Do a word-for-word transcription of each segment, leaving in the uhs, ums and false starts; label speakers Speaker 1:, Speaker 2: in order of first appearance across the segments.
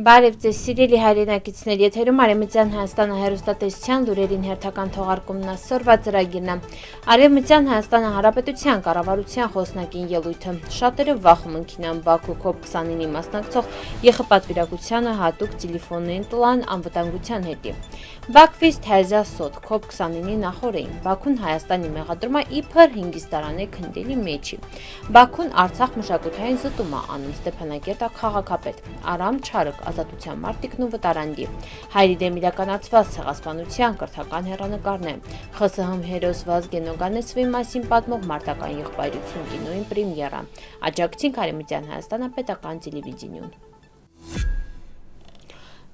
Speaker 1: Բարև ձեզ սիրելի հայրենակիցներ, եթերում Արևմտյան Հայաստանը հեռուստատեսության լուրերին հերթական թողարկումն այսօրվա ծրագիրն է։ Արևմտյան Հայաստանը Հանրապետության կառավարության խոսնակին ելույթը։ Շատերը վախում ընկինան Բաքու քոփ քսանինի մասնակցող ԵԽՊատվիրակությանը հատուկ տելեֆոնային տլան անվտանգության հետի։ Բաքվից թազյա սոտ քոփ քսանինի նախորդին Բաքուն Հայաստանի մեղադրումա իբր հինգիստարանի քնդելի մեջի։ Բաքուն Արցախ մշակութային զտում է անում Ստեփանակերտա քաղաքապետ Արամ Չարըկ ազատության մարտիկն ու վտարանդի։ Հայերի դեմ իրականացված ցեղասպանության կրթական հեռանկարն է։ ԽՍՀՄ հերոս Վազգեն Օգանեսովի մասին պատմող մարտական եղբայրություն կինոյին պրեմիերա։ Աջակցին Արևմտյան Հայաստանը պետական տելևիզիոն։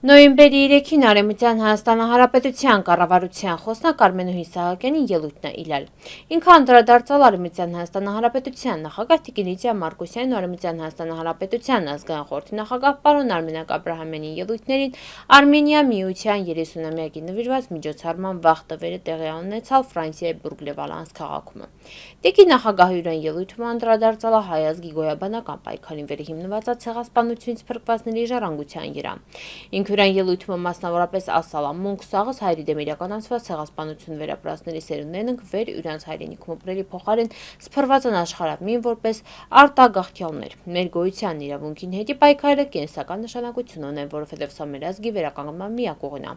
Speaker 1: Նոյեմբերի երեքին Արևմտյան Հայաստանը Հանրապետության կառավարության խոսնակ Արմենուհի Սահակյանի ելույթն է իլալ։ Ինքը անդրադարձալ Արևմտյան Հայաստանը Հանրապետության նախագահ Տիկին Լիդիա Մարկոսյանին ու Արևմտյան Հայաստանը Հանրապետության ազգային խորհրդի նախագահ պարոն Արմենակ Աբրահամյանի ելույթներին Արմենիա միության երեսունամյակի նվիրված միջոցառման վաղ տվերը տեղի ունեցավ Ֆրանսիայի Բուրգ-Լեվալանս քաղաքում։ Տիկին նախագահի ուրան ելույթում անդրադարձալ է հայ ազգի գոյաբանական պայքարին վերհիմնված ցեղասպանությունից փրկվածների ժառանգության երա։ Ինքուրան ելույթում մասնավորապես ասալ է մունք սաղս հայերի դեմ իրականացված ցեղասպանություն վերապրածների սերունդներն վեր իրանց հայրենիքում ապրելի փոխարեն սփռված են աշխարհամին որպես արտագաղթյալներ։ Մեր գոյության իրավունքին հետի պայքարը կենսական նշանակություն ունեն, որովհետև սա մեր ազգի վերականգնման միակ ուղին է։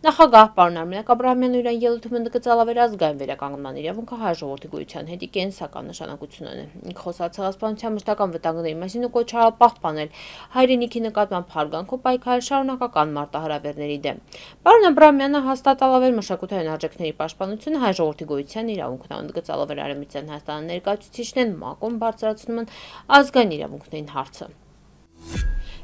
Speaker 1: Նախագահ պարոն Արմենակ Աբրահամյանը ուրան ելույթում ընդգծել վերազգային վերականգնման իրավունքը հայ ժողովրդի գոյության հետի կենսական նշանակություն ունեն։ Ինքը խոսալ ցեղասպանության մշտական վտանգների մասին ու կոչալ պահպանել հայրենիքի նկատմամբ հարգանքով պայքարել շարունակական մարտահրավերների դեմ։ Պարոն Աբրահամյանը հաստատել է մշակութային արժեքների պաշտպանությունը հայ ժողովրդի գոյության իրավունքն է, ընդգծել է Արևմտյան Հայաստանի ներկայացուցիչներն ՄԱԿ-ում բարձրացնում են ազգային իրավունքներին հարցը։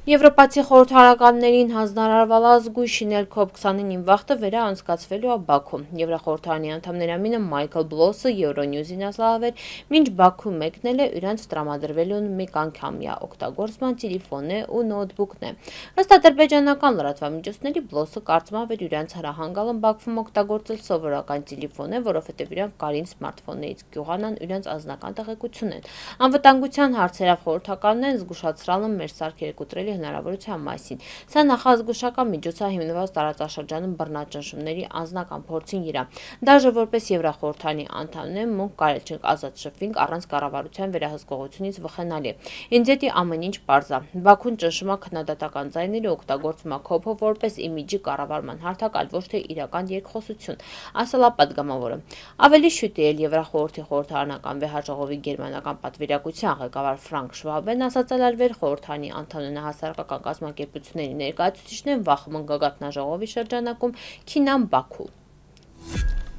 Speaker 1: Եվրոպացի խորհրդարանականներին հանձնարարվել ազգույն շինել քոփ քսանինին վաղտը վերաանցկացվելու է Բաքվում։ Եվրախորհրդարանի անդամների ամինը Մայքլ Բլոսը Euronews-ին ասաց, մինչ Բաքու մեկնել է իրանց տրամադրվելուն մեկ անգամյա օգտագործման տելեֆոնն է ու նոթբուքն է։ Ըստ ադրբեջանական լրատվամիջոցների Բլոսը կարծում է, որ իրանց հրահանգալն Բաքվում օգտագործել սովորական տելեֆոն է, որովհետև իրանք կարին սմարթֆոններից գյուղանան իրանց անձնական տեղեկությունն։ Անվտանգության հարցերով խորհրդականներն զգուշացրել են մեր սարքերը կոտրելի հնարավորության մասին։ Սա նախազգուշական միջոց է հիմնված տարածաշրջանում բռնաճնշումների անձնական փորձին իրա։ Դաժե որպես Եվրախորհրդանի անդամներ մունք կարել չենք ազատ շփվենք առանց կառավարության վերահսկողությունից վխենալի։ Ինձ էդի ամեն ինչ պարզ է։ Բաքուն ճնշում է քննադատական ձայները օգտագործում է քոփը որպես իմիջի կառավարման հարթակ, այլ ոչ թե իրական երկխոսություն, ասել է պատգամավորը։ Ավելի շուտ էլ Եվրախորհրդի խորհրդարանական վեհաժողովի գերմանական պատվիրակության ղեկավար Ֆրանկ Շվաբեն ասացել էր վեր խորհրդանի անդամներն հասարակական կազմակերպությունների ներկայացուցիչներն վախում են գագաթնաժողովի շրջանակում քինան Բաքու։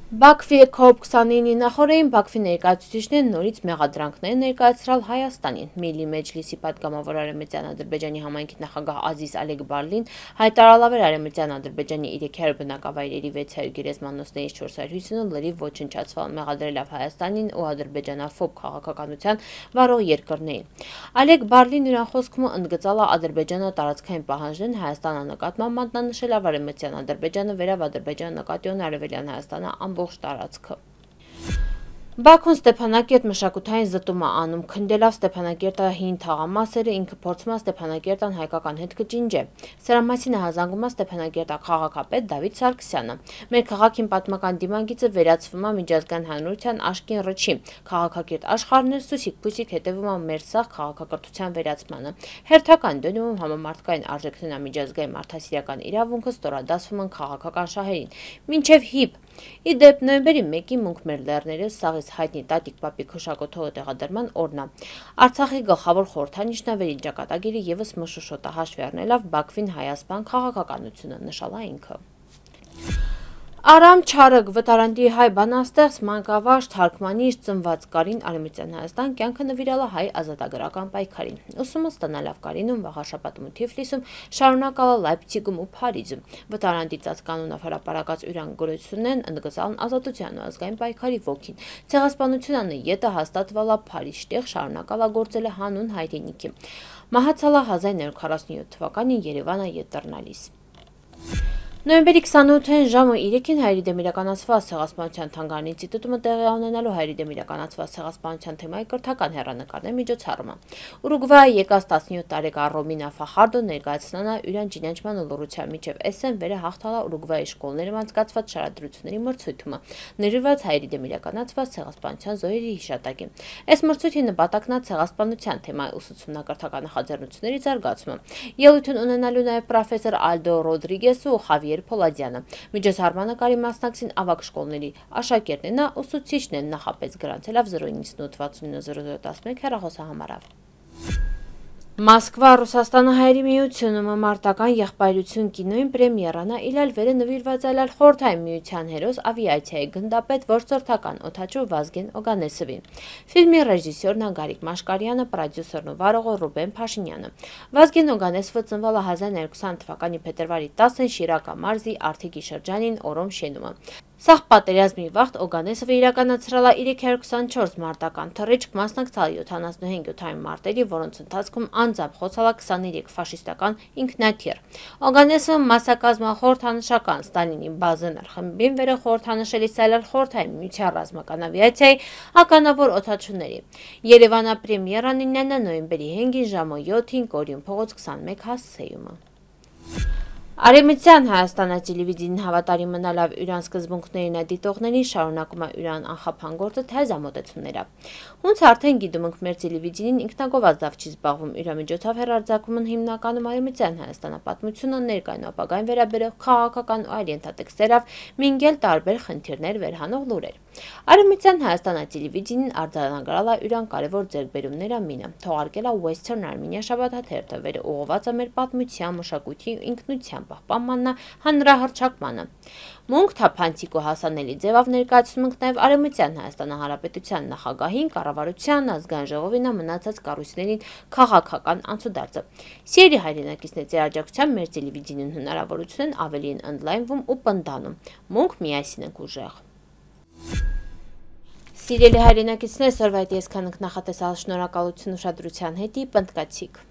Speaker 1: Բաքվի քոփ քսանինի նախորդին Բաքվի ներկայացուցիչներն նորից մեղադրանքներ ներկայացրել Հայաստանին։ Միլի Մեջլիսի պատգամավոր Արևմտյան Ադրբեջանի համայնքի նախագահ Ազիզ Ալեգբարլին հայտարարել էր Արևմտյան Ադրբեջանի երեք հարյուր բնակավայրերի վեց հարյուր գերեզմանոցներից չորս հարյուր հիսունը լրիվ ոչնչացվել, մեղադրելով Հայաստանին ու ադրբեջանաֆոբ քաղաքականության վարող երկրներին։ Ալեգբարլին իրան խոսքում ընդգծել է Ադրբեջանը տարածքային պահանջներն Հայաստանը նկատմամբ մատնանշել Արևմտյան Ադրբեջանը վերավ Ադրբեջանը նկատի ունի Արևելյան Հայաստանը ամբողջ տարածքը։ Բաքուն Ստեփանակերտ մշակութային զտում է անում, քնդելով Ստեփանակերտի հին թաղամասերը, ինքը փորձում է Ստեփանակերտան հայկական հետ կճինջել։ Սրա մասին է հազանգում է Ստեփանակերտի քաղաքապետ Դավիթ Սարգսյանը։ Մեր քաղաքին պատմական դիմագիծը վերածվում է միջազգային հանրության աշկին ռճի։ Քաղաքակիրթ աշխարհներ սուսիկ-փուսիկ հետևում է մեր սաղ քաղաքակրթության վերացմանը։ Հերթական դնում համամարտկային արժեքներն միջազգային մարդասիրական իրավունքը ստորադասվում են քաղաքական շահերին։ Մինչև հիպ Իդեպ նոյեմբերի մեկին մունք մեր լեռները սաղից հայտնի Տատիկ Պապիկ հուշակոթողը տեղադրման օրն է։ Արցախի գլխավոր խորհրդանիշն է վերին ճակատագիրը ևս մշուշոտը հաշվի առնելով Բաքվին հայասպան քաղաքականությունը, նշել է ինքը։ Արամ Չարըկ վտարանդի հայ բանաստեղծ մանկավարժ թարգմանիչ ծնված Կարին Արևմտյան Հայաստան կյանքը նվիրել է հայ ազատագրական պայքարին։ Ուսումը ստանալավ Կարինում վաղաշաբաթում ու Թիֆլիսում, շարունակալ է Լայպցիգում ու Փարիզում։ Վտարանդի ծածկանունով հրապարակած ուրան գորություններն ընդգծան ազատության ու ազգային պայքարի ոգին։ Ցեղասպանությունը ետը հաստատվել է Փարիզտեղ, շարունակալ է գործել հանուն հայրենիքի։ Մահացել է հազար նորը քառասունյոթ թվականին Երևանը ետ դառնալիս։ Նոյեմբերի քսանութին ժամը երեքին Հայերի դեմ իրականացված ցեղասպանության թանգարանի ինստիտուտում տեղի ունենալու Հայերի դեմ իրականացված ցեղասպանության թեմայի կրթական հեռանկարների միջոցառումը։ Ուրուգվայի եկած տասնյոթ տարեկան Ռոմինա Ֆախարդո ներկայացնանա իրան ճանաչման ու լռության միջև էսսեն վերը հաղթալա Ուրուգվայի շկոլներում անցկացված շարադրությունների մրցույթումը, նվիրված Հայերի դեմ իրականացված ցեղասպանության զոհերի հիշատակին։ Այս մրցույթի նպատակն է ցեղասպանության թեմայի ուսուցումնակրթական նախաձեռնությունների զարգացումը։ Ելույթն ունենալու նաև պրոֆեսոր Ալդո Ռոդրիգեսը ու Խավիեր Փոլադյանը։ Միջոցառմանը կարի մասնակցին ավագ շկոլների աշակերտներն ու ուսուցիչներն նախապես գրանցելով զրո իննսուն ութ վաթսուն ինը զիրո զիրո տասնմեկ հեռախոսահամարով։ Մոսկվա Ռուսաստանը Հայերի միությունում մարտական եղբայրություն կինոյին պրեմիերանա իլալ վերը նվիրված այլալ խորհրդային միության հերոս ավիացիայի գնդապետ որսորդական օդաչու Վազգեն Օգանեսովին։ Ֆիլմի ռեժիսորն Գարիկ Մաշկարյանը, պրոդյուսերն ու վարողը Ռուբեն Փաշինյանը։ Վազգեն Օգանեսովը ծնվել է հազար նոյ հարյուր քսան թվականի փետրվարի տասին Շիրակա մարզի Արթիկի շրջանին Օրոմ շենումը։ Սաղ պատերազմի վաղտ Օգանեսովը իրականացրել է երեք հարյուր քսանչորս մարտական թռիչք, մասնակցել յոթանասունհինգ օդային մարտերի, որոնց ընթացքում անձամբ խոցել է քսաներեք ֆաշիստական ինքնաթիռ։ Օգանեսովը մասնակազմել խորհրդանշական Ստալինի Բազենար խմբին վերը խորհրդանշելի սայլալ խորհրդային միության ռազմական ավիացիայի ականավոր օդաչուների։ Երևանա պրեմիերան իննանա նոյեմբերի հինգին ժամը յոթին Կորյուն փողոց քսանմեկ հասցեյումը։ Արեմիցյան Հայաստանը տելևիզիոն հավատարիմ մնալավ իրան սկզբունքներին դիտողներին շարունակում է իրան անխափան գործը թե զամոտեցումները։ Ոնց արդեն գիտում ենք մեր տելևիզիոնին ինքնագովազդ դավ չի զբաղվում իր միջոցով հեռարձակումն հիմնականում Արեմիցյան Հայաստանը պատմությունը ներկայուն ապագային վերաբերող քաղաքական ու այլ ենթատեքստերով մինգել տարբեր խնդիրներ վերհանող լուրեր։ Արեմիցյան Հայաստանը տելևիզիոնին արձանագրել է իրան կարևոր ձեռքբերումները մինը, թողարկել է Western Armenia շաբաթաթերթը, վերը ուղղված է մեր պատմության, մշակույթի ու ինքնության պահպանմանն հանրահռչակմանը։ Մունք թափանցիկ ու հասանելի ձևով ներկայացնում ենք նաև Արեմիցյան Հայաստանը Հանրապետության նախագահին, կառավարության, ազգային ժողովին մնացած կառույցներին քաղաքական անցուդարձը։ Սիրելի հայրենակիցներ, ձեր աջակցությամբ մեր տելևիզիոն հնարավորությունն ավելի են ընդլայնվում ու պնդանում։ Մունք միասին ենք ուժեղ։ Սիրելի հայրենակիցներ, սորվայտ ես քանք նախատեսալ շնորհակալություն ուշադրության հետի պնդկացիք։